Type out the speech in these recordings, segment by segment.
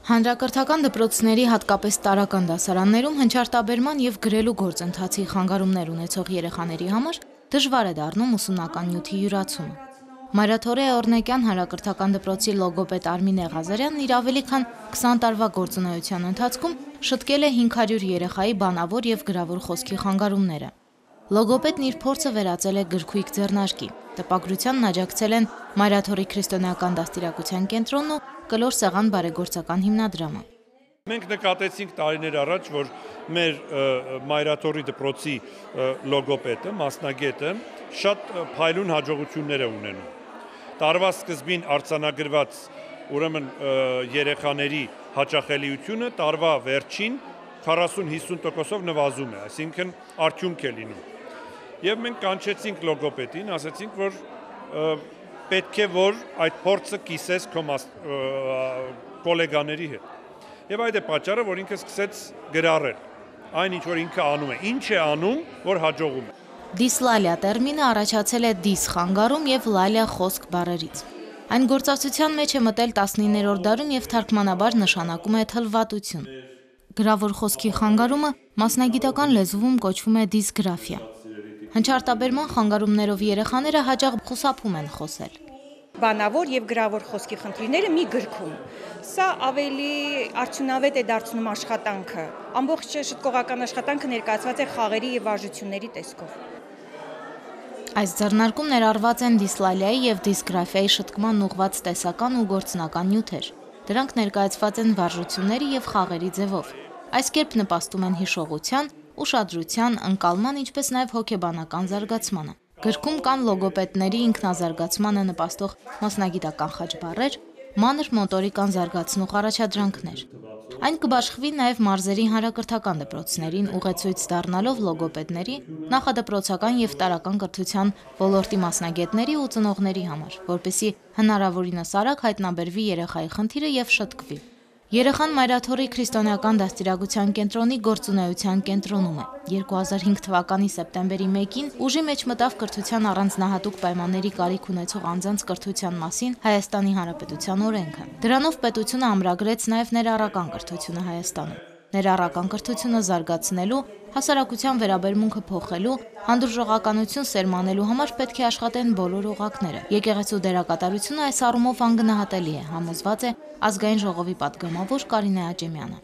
Հանրակրթական դպրոցների, հատկապես տարրական դասարաններում հնչարտաբերման և գրելու գործընթացի խանգարումներ ունեցող երեխաների համար դժվար է դառնում ուսումնական նյութի յուրացումը։ Մայրաթորե Օրնեկյան հանրակրթական դպրոցի լոգոպեդ Արմինե Ղազարյանն իր ավելի քան 20 տարվա գործունեության ընթացքում շտկել է 500 երեխայի բանավոր և գրավոր խոսքի խանգարումները։ Լոգոպեդն իր փորձը վերածել է գրքույկ ձեռնարկի։ Տպագրությանն աջակցել են Մայրաթորի քրիստոնեական դաստիարակության կենտրոնն ու Կլոր Սեղան բարեգործական հիմնադրամը։ Մենք նկատեցինք տարիներ առաջ, որ մեր Մայրաթորի դպրոցի լոգոպեդը, մասնագետը շատ փայլուն հաջողություններ է ունենում։ Տարվա սկզբին արձանագրված ուրեմն երեխաների հաճախելիությունը տարվա վերջին 40-50%-ով նվազում է, այսինքն արդյունք է լինում։ Եվ մենք կանչեցինք լոգոպեդին, ասացինք, որ պետք է որ այդ փորձը կիսես քո գոլեգաների հետ։ Եվ այդ է պատճառը, որ ինքը սկսեց գրառել այն ինչ որ ինքը անում է, ինչ է անում, որ հաջողում է։ Դիսլալիա տերմինը առաջացել է դիս խանգարում և լալիա խոսք բառերից։ Այն գործածության մեջ է մտել 19-րդ դարում և թարգմանաբար նշանակում է թլվատություն։ Գրավոր խոսքի խանգարումը մասնագիտական լեզվում կոչվում է դիսգրաֆիա։ Հնչարտաբերման խանգարումներով երեխաները հաճախ խուսափում են խոսել։ Բանավոր և գրավոր խոսքի խնդիրները մի գրքում։ Սա ավելի արդյունավետ է դարձնում աշխատանքը։ Ամբողջ շտկողական աշխատանքը ներկայացված է խաղերի և վարժությունների տեսքով։ Այս ձեռնարկում ներառված են դիսլալիայի և դիսգրաֆիայի շտկման ուղղված տեսական ու գործնական նյութեր։ Դրանք ներկայացված են վարժությունների և խաղերի ձևով։ Այս կերպ նպաստում են հիշողության, ուշադրության, ընկալման, ինչպես նաև հոգեբանական զարգացմանը։ Գրքում կան լոգոպեդների ինքնազարգացմանը նպաստող մասնագիտական խաչ բառեր, մանր մոտորիկան զարգացնող առաջադրանքներ։ Այն կբաշխվի նաև մարզերի հանրակրթական դպրոցներին, ուղեցույց դառնալով լոգոպեդների, նախադպրոցական և տարրական կրթության ոլորտի մասնագետների ու ծնողների համար, որպեսզի հնարավորինս արագ հայտնաբերվի երեխայի խնդիրը և շտկվի։ Երեխան Մայրաթորի քրիստոնեական դաստիարակության կենտրոնի գործունեության կենտրոնում է։ 2005 թվականի սեպտեմբերի 1-ին ուժի մեջ մտավ կրթության առանձնահատուկ պայմանների կարիք ունեցող անձանց կրթության մասին Հայաստանի Հանրապետության օրենքը։ Դրանով պետությունը ամրագրեց նաև ներառական կրթությունը Հայաստանում։ Ներառական կրթությունը զարգացնելու, հասարակության վերաբերմունքը փոխելու, հանդուրժողականություն սերմանելու համար պետք է աշխատեն բոլոր օղակները։ Եկեղեցու դերակատարությունը այս առումով անգնահատելի է, համոզված է Ազգային ժողովի պատգամավոր Կարինե Աճեմյանը։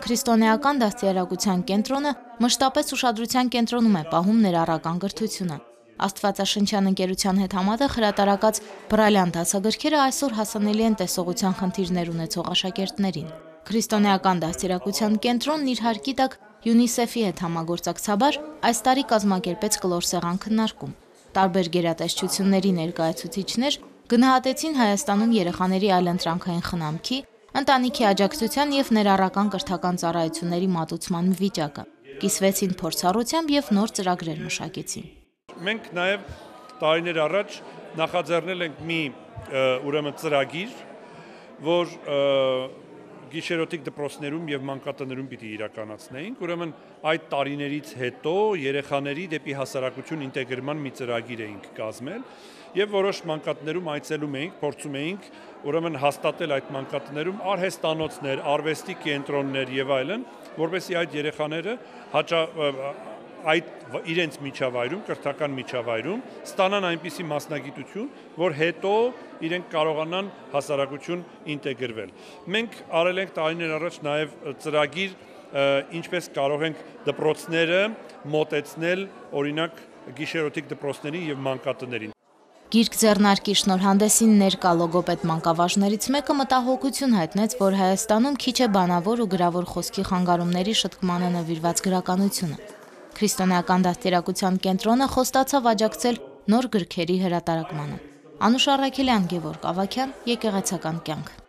Քրիստոնեական դաստիարակության կենտրոնը մշտապես ուշադրության կենտրոնում է պահում ներառական կրթությունը։ Աստվածաշնչյան ընկերության հետ համատեղ հրատարակած բրայլյան դասագրքերը այսօր հասանելի են տեսողության խնդիրներ ունեցող աշակերտներին։ Քրիստոնեական դաստիարակության կենտրոնն իր հարկի տակ ՅՈՒՆԻՍԵՖ-ի հետ համագործակցաբար այս տարի կազմակերպեց Կլոր Սեղան քննարկում։ Տարբեր գերատեսչությունների ներկայացուցիչներ գնահատեցին Հայաստանում երեխաների այլընտրանքային խնամքի, ընտանիքի աջակցության և ներառական կրթական ծառայությունների մատուցման վիճակը, կիսվեցին փորձառությամբ և նոր ծրագրեր մշակեցին։ Մենք նաև տարիներ առաջ նախաձեռնել ենք մի ծրագիր, որ գիշերօթիկ դպրոցներում և մանկատներում պիտի իրականացնեինք, ուրեմն այդ տարիներից հետո երեխաների դեպի հասարակություն ինտեգրման մի ծրագիր էինք կազմել և որոշ մանկատներում այցելում էինք, փորձում էինք ուրեմն հաստատել այդ մանկատներում արհեստանոցներ, արվեստի կենտրոններ և այլն, որպեսզի այդ երեխաները այդ իրենց միջավայրում, կրթական միջավայրում ստանան այնպիսի մասնագիտություն, որ հետո իրենք կարողանան հասարակություն ինտեգրվել։ Մենք արել ենք տարիներ առաջ նաև ծրագիր, ինչպես կարող ենք դպրոցները մոտեցնել օրինակ գիշերօթիկ դպրոցներին և մանկատներին։ Գիրք ձեռնարկի շնորհանդեսին ներկա լոգոպեդ մանկավարժներից մեկը մտահոգություն հայտնեց, որ Հայաստանում քիչ է բանավոր ու գրավոր խոսքի խանգարումների շտկմանը նվիրված գրականությունը։ Քրիստոնեական դաստիարակության կենտրոնը խոստացավ աջակցել նոր գրքերի հրատարակմանը։ Անուշ Առաքելյան, Գևորգ Ավագյան, Եկեղեցական կյանք։